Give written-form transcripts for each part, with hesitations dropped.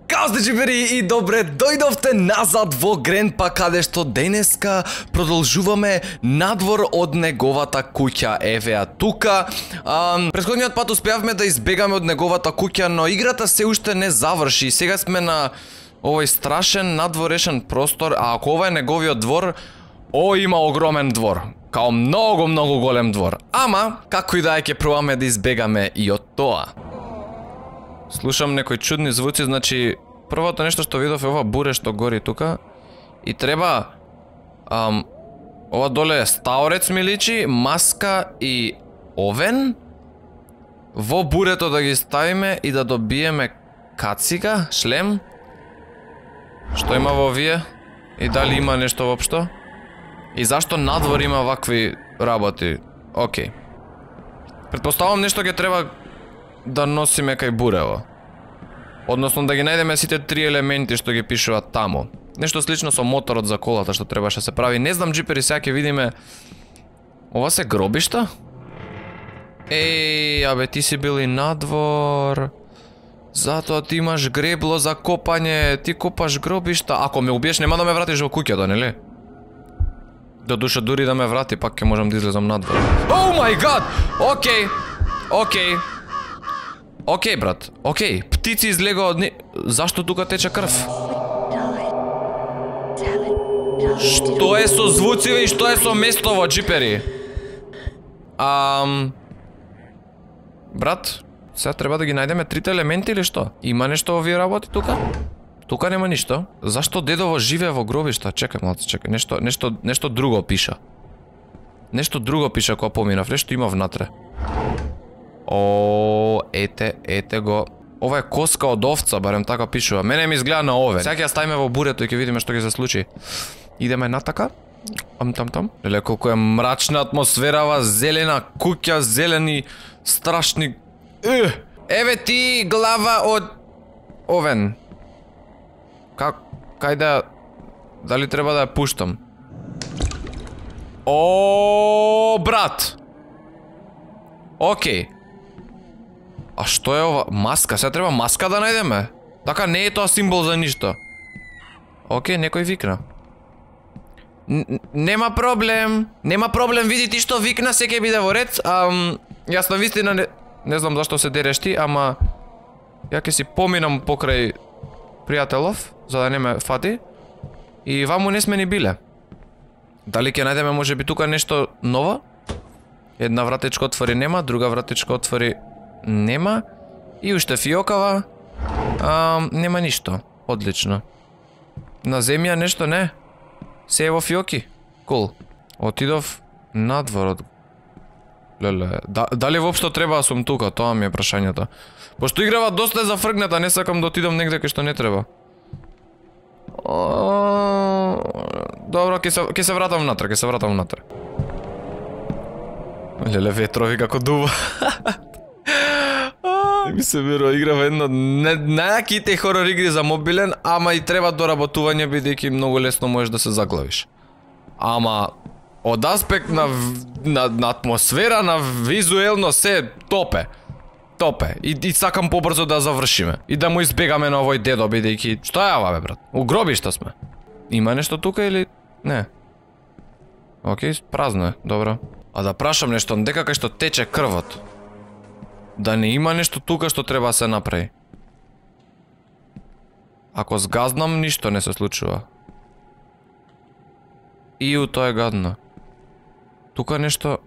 Као сте джипери и добре дојдовте назад во Гренпа, каде што денеска продолжуваме надвор од неговата куќа. Еве ја тука. Претходниот пат успеавме да избегаме од неговата куќа, но играта се уште не заврши. Сега сме на овој страшен надворешен простор, а ако ова е неговиот двор, има огромен двор. Као многу голем двор. Ама, како и да е, ќе пробаме да избегаме и од тоа. Слушам некои чудни звуци, значи првото нешто што видов е ова буре што гори тука. И треба ова доле е стаорец ми личи, маска и овен. Во бурето да ги ставиме и да добиеме кацига, шлем. Што има во овие? И дали има нешто воопшто? И зашто надвор има вакви работи? Океј. Претпоставам нешто ќе треба да носиме кај бурево. Односно да ги најдеме сите три елементи што ги пишуваат таму. Нешто слично со моторот за колата што требаше се прави. Не знам джипери, сега ќе видиме. Ова се гробишта? Еј, абе ти си бил и надвор. Затоа ти имаш гребло за копање, ти копаш гробишта. Ако ме убиеш нема да ме вратиш во куќата, нели? До душа дури да ме врати, пак ќе можам да излезам надвор. Оу мај гад! Океј. Океј, брат. Океј. Птици излегоа од Зашто тука тече крв? Што е со звуциве и што е со местово, джипери? Брат, сега треба да ги најдеме трите елементи или што? Има нешто во овие работи тука? Тука нема ништо. Зашто дедово живее во гробишта? Чекај малце, чекај. Нешто друго пиша. Нешто друго пиша кога поминав. Нешто има внатре. О, ете го. Ова е коска од овца, барем така пишува. Мене ми изгледа на овен. Сега ќе ја ставиме во бурето и ќе видиме што ќе се случи. Идеме натака. Там. Леле, колку е мрачна атмосферава, зелена куќа, зелени, страшни... Еве ти глава од овен. Кај да... Дали треба да ја пуштам? О, брат! Океј. А што е ова? Маска, сега треба маска да најдеме. Така не е тоа символ за ништо. Океј, некој викна. Нема проблем, види ти што викна, се ќе биде во ред. Јас на вистина не знам зашто се дереш ти, ама ја ќе си поминам покрај пријателов, за да не ме фати. И ваму не сме ни биле. Дали ќе најдеме можеби тука нешто ново? Една вратичка отвори нема, друга вратичка отвори нема. И уште фиокава. Нема ништо. Одлично. На земја нешто не. Се е во фиоки. Кул. Отидов надвор. Леле. Дали воопшто треба да сум тука? Тоа ми е прашањето. Пошто играва доста е зафргната, не сакам да отидам негде кај што не треба. Добро, ќе се вратам внатре, Леле, ветрови како дува. Ми се верува, играва едно најаките хорор игри за мобилен, ама и треба доработување, бидејќи многу лесно можеш да се заглавиш. Ама од аспект на атмосфера, на визуелно се топе. И сакам побрзо да завршиме. И да му избегаме на овој дедо, бидејќи... Што е ова, бе, брат? У гробишта сме. Има нешто тука или... Не. Океј, празно е, добро. А да прашам нешто, дека кај што тече крвот, да не има нешто тука што треба да се направи? Ако згазнам, ништо не се случува. Иу, тоа е гадно. Тука нешто...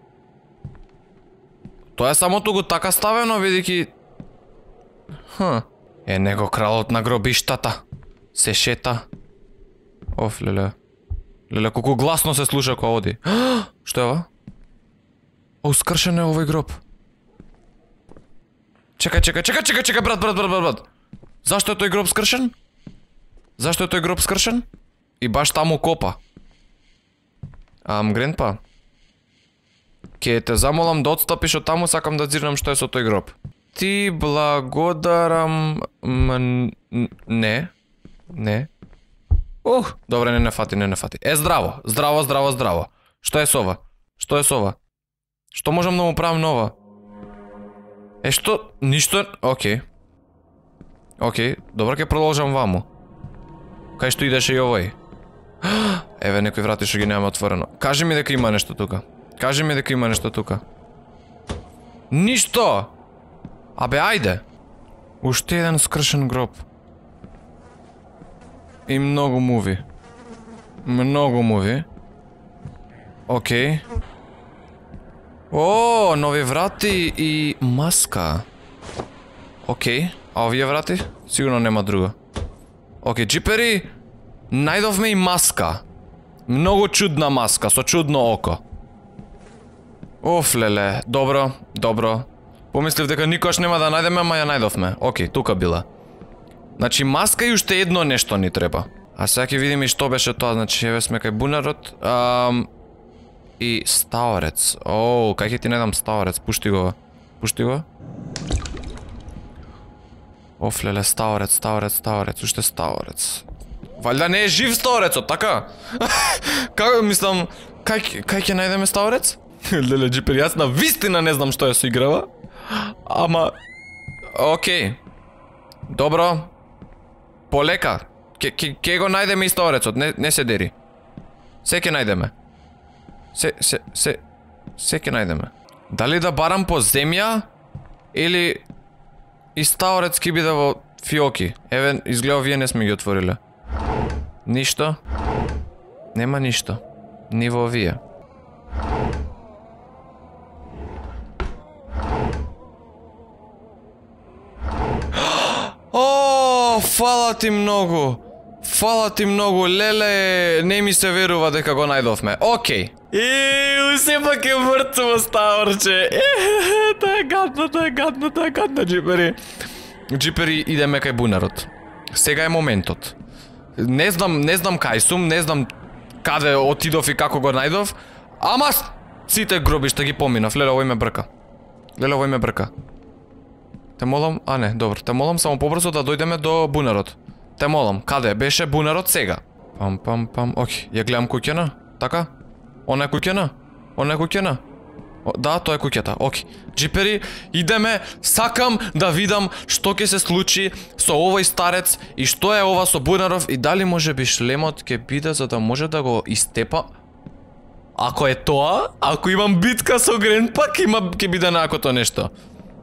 Тоа е само туку така ставено, бидејќи... Е, него кралот на гробиштата. Се шета. Оф, леле. Леле, колку гласно се слуша кога оди. Што е ова? О, скршен е овој гроб. Чекај, брат. Зашто е тој гроб скршен? И баш таму копа. Гренпа. Ке те замолам да отстапиш од таму, сакам да зирнам што е со тој гроб. Ти благодарам... Не. Добре, не фати. Здраво. Што е со ова? Што можам да му правам нова? Што? Ништо? Океј. Океј, добро, ќе продолжам ваму. Кај што идеше и овој? Еве некои врати што ги немаме отворено. Кажи ми дека има нешто тука. Кажи ми дека има нешто тука. Ништо! Абе, ајде! Уште еден скршен гроб. И многу муви. Многу муви. Океј. О, нови врати и маска. Океј, а овие врати? Сигурно нема друго. Океј, джипери, најдовме и маска. Многу чудна маска, со чудно око. Оф, леле, добро, добро. Помислив дека никош нема да најдеме, ама ја најдовме. Океј, тука била. Значи, маска и уште едно нешто ни треба. А сега ќе видиме и што беше тоа, значи, еве сме кај бунарот. И стаорец. Оу, кај ќе ти најдам стаорец? Пушти го. Пушти го. Оф, леле, стаорец, стаорец, стаорец, уште стаорец. Валјда не е жив стаорецот, така? Како мислам, кај ќе најдеме стаорец? Леле, джипер, јас на вистина не знам што ја се играва. Ама, океј. Добро. Полека. Ке го најдеме и стаорецот, не се дери. Се ќе најдеме. Се ќе најдеме. Дали да барам по земја или и стаорец ки биде во фиоки? Еве, изгледа вие не сме ги отвориле. Ништо. Нема ништо. Ни во овие. О, фала ти многу. Фала ти многу, леле, не ми се верува дека го најдовме. Океј. Сепак е мртво стаорче. Тоа е гадно, тоа е гадно, тоа е гадно, джипери. Джипери, идеме кај бунарот. Сега е моментот. Не знам кај сум, не знам каде отидов и како го најдов, ама сите гробишта ги поминав. Леле, овој ме брка. Леле, овој ме брка. Те молам, а не, добро, те молам само побрзо да дојдеме до бунарот. Те молам, каде беше бунарот сега? Пам, океј, ја гледам куќена, така? Она е куќена? Она е куќена? Да, тоа е куќата, океј. Джипери, идеме, сакам да видам што ќе се случи со овој старец и што е ова со бунаров и дали може би шлемот ќе биде за да може да го истепа. Ако е тоа, ако имам битка со Гренпа, ќе биде накото нешто.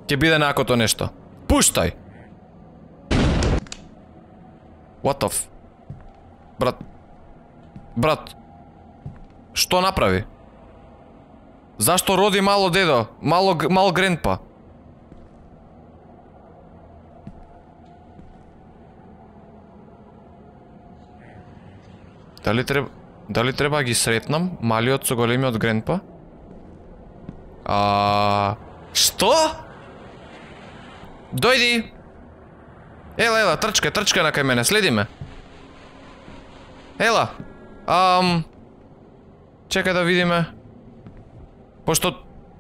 Ќе биде накото нешто. Пуштај! What the f... Брат. Што направи? Зашто роди мало дедо? Мал Гренпа? Дали треба ги сретнам малиот со големиот Гренпа? Што? Дојди! Ела, трчка на кај мене, следи ме. Ела. Чекај да видиме. Пошто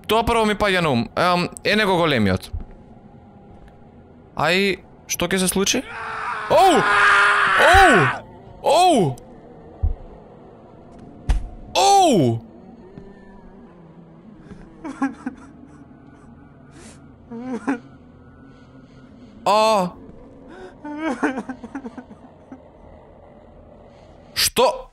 тоа прво ми паѓа на ум. Е него големиот. Ај, што ќе се случи? Оу! Што?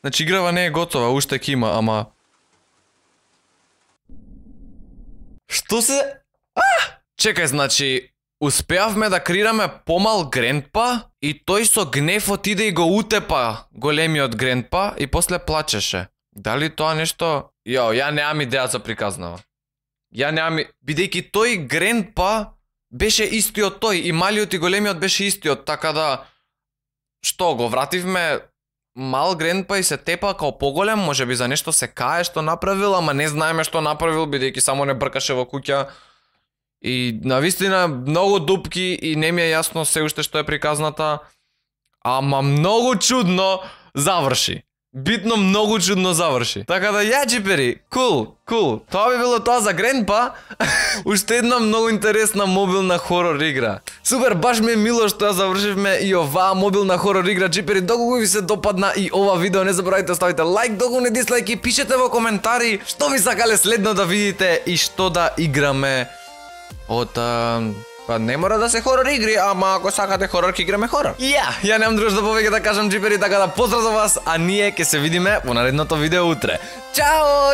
Значи играва не е готова, уште ќе има, ама... Што се... Чекај, значи... Успеавме да креираме помал Гренпа и тој со гнев отиде и го утепа големиот Гренпа и после плачеше. Дали тоа нешто... ја немам идеја за приказнава. Бидејќи тој Гренпа беше истиот тој и малиот и големиот беше истиот, така да... Што, го вративме мал Гренпа и се тепа као поголем, може би за нешто се кае што направил, ама не знаеме што направил, бидејќи само не бркаше во куќа. И навистина многу дупки и не ми е јасно се уште што е приказната, ама многу чудно заврши. битно многу чудно заврши. Така да ја джипери, кул. Тоа би било тоа за Гренпа. Уште една многу интересна мобилна хорор игра. Супер, баш ми е мило што ја завршивме и оваа мобилна хорор игра. Джипери, доколку ви се допадна и ова видео, не заборавајте ставите лайк, доколку не дислайк и пишете во коментари што ви сакале следно да видите и што да играме од па не мора да се хорор игри, ама ако сакате хорор, ќе играме хорор. Ја немам друго што повеќе да кажам, джипери, така да поздрав за вас, а ние ќе се видиме во наредното видео утре. Чао!